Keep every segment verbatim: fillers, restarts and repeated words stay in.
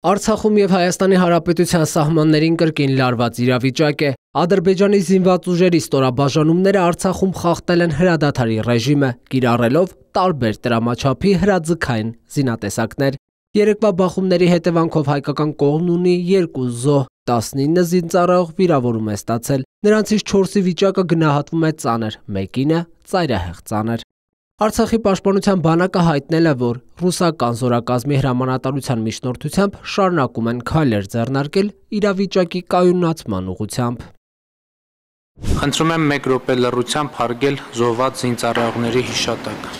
Արցախում և Հայաստանի Հանրապետության սահմաններին կրկին լարված իրավիճակ է։ Ադրբեջանի զինված ուժերի ստորաբաժանումները Արցախում խախտել են հրադադարի ռեժիմը, կիրառելով տարբեր տրամաչափի հրաձգային զինատեսակներ։ Երեկվա բախումների հետևանքով հայկական կողմն ունի երկու զոհ, տասնինը զինծառայող վիրավորում է ստացել։ Նրանցից չորսի վիճակը գնահատվում է ծանր, մեկինը ծայրահեղ ծանր։ Արցախի պաշտպանության բանակը հայտնել է, որ ռուսական զորակազմի հրամանատարության միջնորդությամբ շարունակում են քայլեր ձեռնարկել իրավիճակի կայունացման ուղղությամբ։ Խնդրում եմ մեկ րոպե լռությամբ հարգել զոհված զինծառայողների հիշատակը։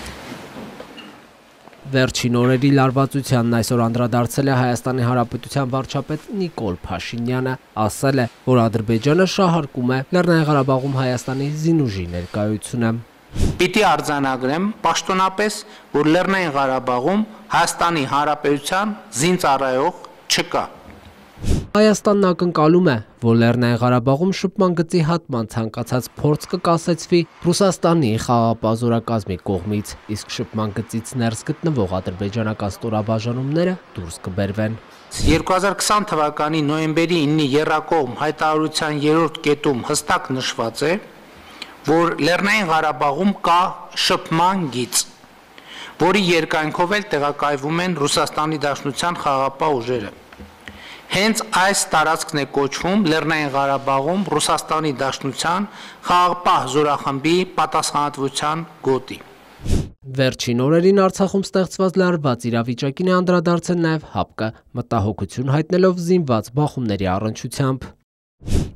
Վերջին օրերի լարվածությանն այսօր անդրադարձել է Հայաստանի Հանրապետության վարչապետ Նիկոլ Փաշինյանը, ասել է, որ Ադրբեջանը շահարկում է Լեռնային Ղարաբաղում Հայաստանի զինուժի ներկայությունը։ Պիտի արձանագրեմ պաշտոնապես, որ Լեռնային Ղարաբաղում Հայաստանի Հանրապետության զինծառայող չկա։ Հայաստանն ակնկալում է, որ Լեռնային Ղարաբաղում շփման գծի հատման ցանկացած փորձ կկասեցվի Ռուսաստանի խաղաղապահ զորակազմի կողմից, իսկ շփման գծից ներս գտնվող ադրբեջանական ստորաբաժանումները դուրս կբերվեն։ երկու հազար քսան թվականի նոյեմբերի իննի եռակողմ հայտարարության երրորդ կետում հստակ նշված է, որ Լեռնային Ղարաբաղում կա շփման գիծ, որի երկայնքով էլ տեղակայվում են Ռուսաստանի Դաշնության խաղաղապահ ուժերը։ Հենց այս տարածքն է կոչվում Լեռնային Ղարաբաղում Ռուսաստանի Դաշնության խաղաղապահ զորախմբի պատասխանատվության գոտի։ Վերջին օրերին Արցախում ստեղծված լարված իրավիճակին է անդրադարձել նաև ՀԱՊԿ-ը, մտահոգություն հայտնելով զինված բախումների առնչությամբ։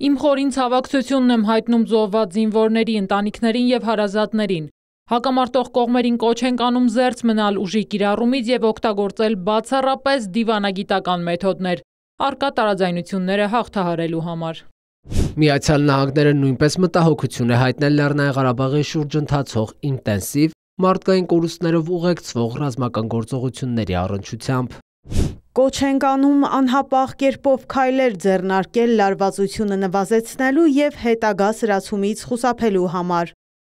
Իմ խորին ցավակցությունն եմ հայտնում զոհված զինվորների ընտանիքներին եւ հարազատներին։ Հակամարտող կողմերին կոչ ենք անում զերծ մնալ ուժի կիրառումից եւ օգտագործել բացառապես դիվանագիտական մեթոդներ, առկա տարաձայնությունները հաղթահարելու համար։ Միացյալ Նահանգները նույնպես մտահոգություն է հայտնել Լեռնային Ղարաբաղի շուրջ ընթացող ինտենսիվ մարդկային կորուստներով ուղեկցվող ռազմական գործողությունների առնչությամբ։ Կոչ ենք անում անհապաղ կերպով քայլեր ձեռնարկել լարվածությունը նվազեցնելու եւ հետագա սրացումից խուսափելու համար։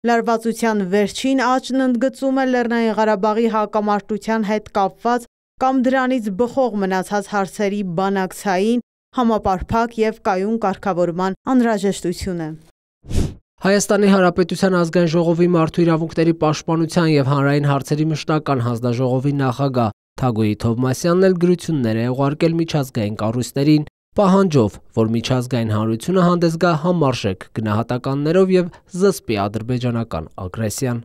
Լարվածության վերջին աճն ընդգծում է Լեռնային Ղարաբաղի հակամարտության հետ կապված կամ դրանից բխող մնացած հարցերի բանակցային, համապարփակ եւ կայուն կարգավորման անհրաժեշտությունը։ Հայաստանի Հանրապետության ազգային ժողովի մարդու իրավունքների պաշտպանության եւ հանրային հարցերի մշտական հանձնաժողովի նախագահ Թագոյի Թովմասյանն էլ գրություններ է ուղարկել միջազգային կառույցներին, պահանջով, որ միջազգային հանրությունը հանդես գա համարժեք գնահատականներով եւ զսպի ադրբեջանական ագրեսիան։